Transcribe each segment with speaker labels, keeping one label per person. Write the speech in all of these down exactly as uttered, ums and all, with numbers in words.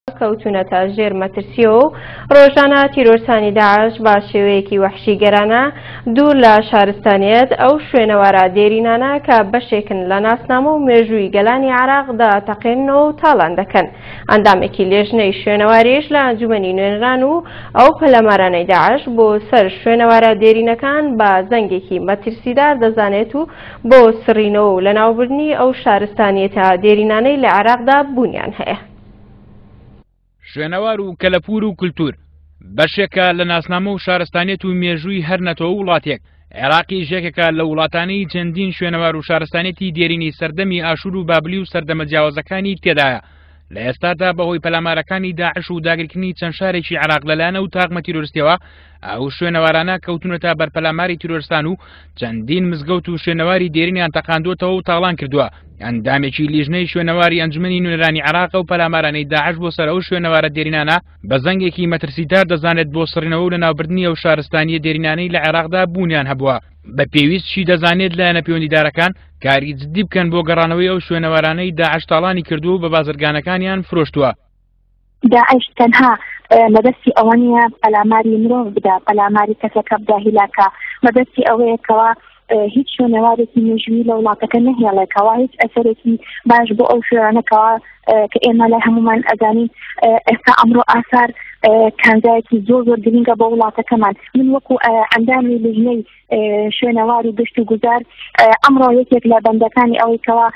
Speaker 1: کەوتونەتە ژێر مەترسیەوە و ڕۆژانە تیرۆرستانی داعش بە شێوەیەکی وەحشیگەرانە دوور لە شارستانیەت ئەو شوێنەوارە دێرینانە کە بەشێکن لە ناسنامە و مێژووی گەلانی عێراقدا تەقێننەوە و تاڵان دەکەن. ئەندامێکی لێژنەی شوێنەواریش لە ئەنجومەنی نوێنەران و ئەو پەلامارانەی داعش بۆ سەر شوێنەوارە دێرینەکان بە زەنگێکی مەترسیدار دەزانێت و بۆ سڕینەوە و لەناوبردنی ئەو شارستانیەتە دێرینانەی لە عێراقدا بوونیان هەیە.
Speaker 2: شوێنەوار و کەلەپوور و کولتوور بەشێکە لە ناسنامە و شارستانیەت و مێژووی هەر نەتەوە وڵاتێک. عێراقیش یەکێکە لە وڵاتانی چەندین شوێنەوار و شارستانیەتی دێرینی سەردەمی ئاشوور و بابلی و سەردەمە جیاوازەکانی تێدایە. لە ئێستادا بەهۆی پەلامارەکانی داعش و داگیرکردنی چەند شارێکی عێراق لەلایەن ئەو تاقمە تیرۆریستیەوە ئەو شوێنەوارانە کەوتونەتە بەر پەلاماری تیرۆرستان و چەندین مزگەوت و شوێنەواری دێرینیان تەقاندووەتەوە و تاڵان کردووە. ئەندامێکی لیژنەی شوێنەواری ئەنجومەنی نوێنەرانی عێراق و پەلامارانەی داعش بۆ سەر ئەو شوێنەوارە دێرینانە بە زەنگێکی مەترسیدار دەزانێت بۆ سڕینەوە و لەناوبردنی ئەو شارستانیە دێرینانەی لە عێراقدا بوونیان هەبووە. بە پێویستشی دەزانێت لایەنە پەیوەندیدارەکان کاری جدی بکەن بۆ گەڕانەوەی ئەو شوێنەوارانەی داعش تاڵانی کردووە و بە بازرگانەکانیان فرۆشتووە.
Speaker 3: داعش تەنها مەبەستی ئەوە نییە پەلاماری مرۆڤ بدا، پەلاماری کەسەکە بدا هیلاکە، مەبەستی ئەوەیە کەوا هیچ شوێنەوارێکی مێژوویی لە وڵاتەکە نەهێڵێکەوە، هیچ ئەسەرێکی باش بۆ ئەو شوێنەکەوە کە ئێمە لای هەمومان ئەزانین ئێستا ئەمڕۆ ئاسار کانزایەکی زۆر زۆر گرنگە بۆ وڵاتەکەمان. من وەکو ئەندامی لیژنەی شوێنەوار و گشت و گوزار ئەمڕۆ یەکێک لە بەندەکانی ئەوەی کەوا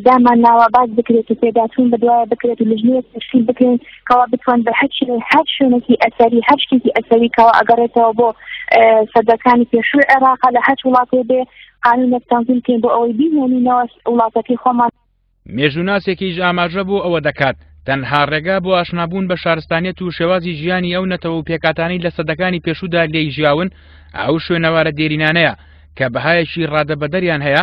Speaker 3: دامان ناوە باز بکرێت و پێداچوون بەدوایە بکرێت و لیژنەیەک تەشکیل بکرێن کەوا بتوان بە هەر شوێنێکی ئەسەری هەر شتێکی ئەسەری کەوا ئەگەڕێتەوە بۆ سەدەکانی پێشووی عێراق لە هەر وڵاتێ بێ قانونێک تەنزیم بکەین بۆ ئەوەی بیهێنینەوە وڵاتەکەی خۆمان.
Speaker 2: مێژووناسێکیش ئاماژە بۆ ئەوە دەکات تەنها ڕێگا بۆ ئاشنابوون بە شارستانیەت و شێوازی ژیانی ئەو نەتەوە و پێکاتانەی لە سەدەکانی پێشوودا لێی ژیاون ئەو شوێنەوارە دێرینانەیە کە بەهایەکی ڕادەبەدەریان هەیە،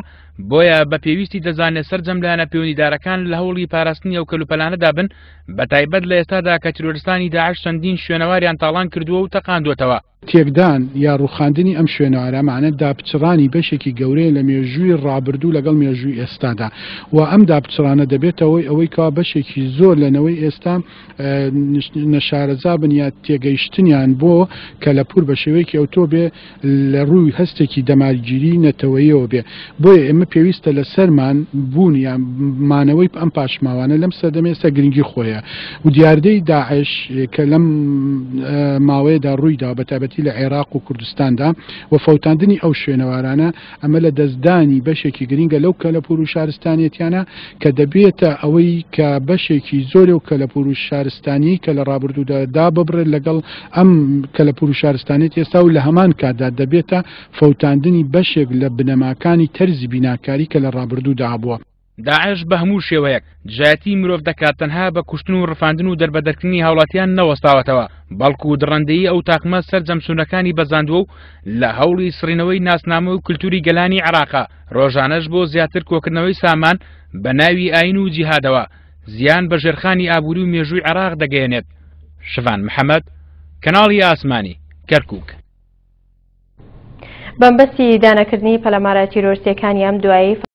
Speaker 2: بۆیە بە پێویستی دەزانێت سەرجەم لایەنە پەیوەندیدارەکان لە هەوڵی پاراستنی ئەو کەلوپەلانەدا بن، بە تایبەت لە ئێستادا کە تیرۆرستانی داعش چەندین شوێنەواریان تاڵان کردووە و تەقاندووەتەوە.
Speaker 4: تێکدان یا ڕوخاندنی ئەم شوێنەوارەمانە داپچڕانی بەشێکی گەورەیە لە مێژووی ڕابردوو لەگەڵ مێژووی ئێستادا و ئەم داپچڕانە دەبێتەوەی ئەوەی کەوا بەشێکی زۆر لە نەوەی ئێستا نەشارەزا بن یا تێگەیشتنیان بۆ کەلەپوور بە شێوەیەکی ئەوتۆ بێ لە ڕووی هەستێکی دەمارگیری نەتەوەیەوە بێ. بۆیە ئێمە پێویستە لەسەرمان بوون یان مانەوەی ئەم پاشماوانە لەم سەردەمە ئێستا گرنگی خۆیە و دیاردەی داعش کە لەم ماوەیەدا ڕوویدا بە تایبەتی لە عێراق و کوردستاندا و فەوتاندنی ئەو شوێنەوارانە ئەمە لە دەستدانی بەشێکی گرنگە لەو کەلەپوور و شارستانیەتیانە کە دەبێتە ئەوەی کە بەشێکی زۆرێ و کەلەپوور و شارستانی کە لە ڕابردوودا داببڕێت لەگەڵ ئەم کەلەپوور و شارستانیەت ئێستا و لە هەمان کاتدا دەبێتە فەوتاندنی بەشێک لە بنەماکانی تەرزی بیناکاری کە لە ڕابردوودا هەبووە.
Speaker 2: داعش بە هەموو شێوەیەک دژایەتی مرۆڤ دەکات تەنها بە کوشتن و ڕفاندن و دەربەدەرکردنی هاوڵاتیان نەوەستاوەتەوە، بەڵکو دڕەندەیی ئەو تاقمە سەرجەم سوونەکانی بەزاندووە و لە هەوڵی سڕینەوەی ناسنامە و کولتوری گەلانی عێراقا ڕۆژانەش بۆ زیاتر کۆکردنەوەی سامان بە ناوی ئاین و جیهادەوە زیان بە ژێرخانی ئابووری و مێژووی عێراق دەگەیەنێت. شڤان محەممەد، کەناڵی ئاسمانی، کەرکووک.
Speaker 1: بەمبەستی دانەکردنی پەلامارە تیرۆرستیەکانی ئەم دوایی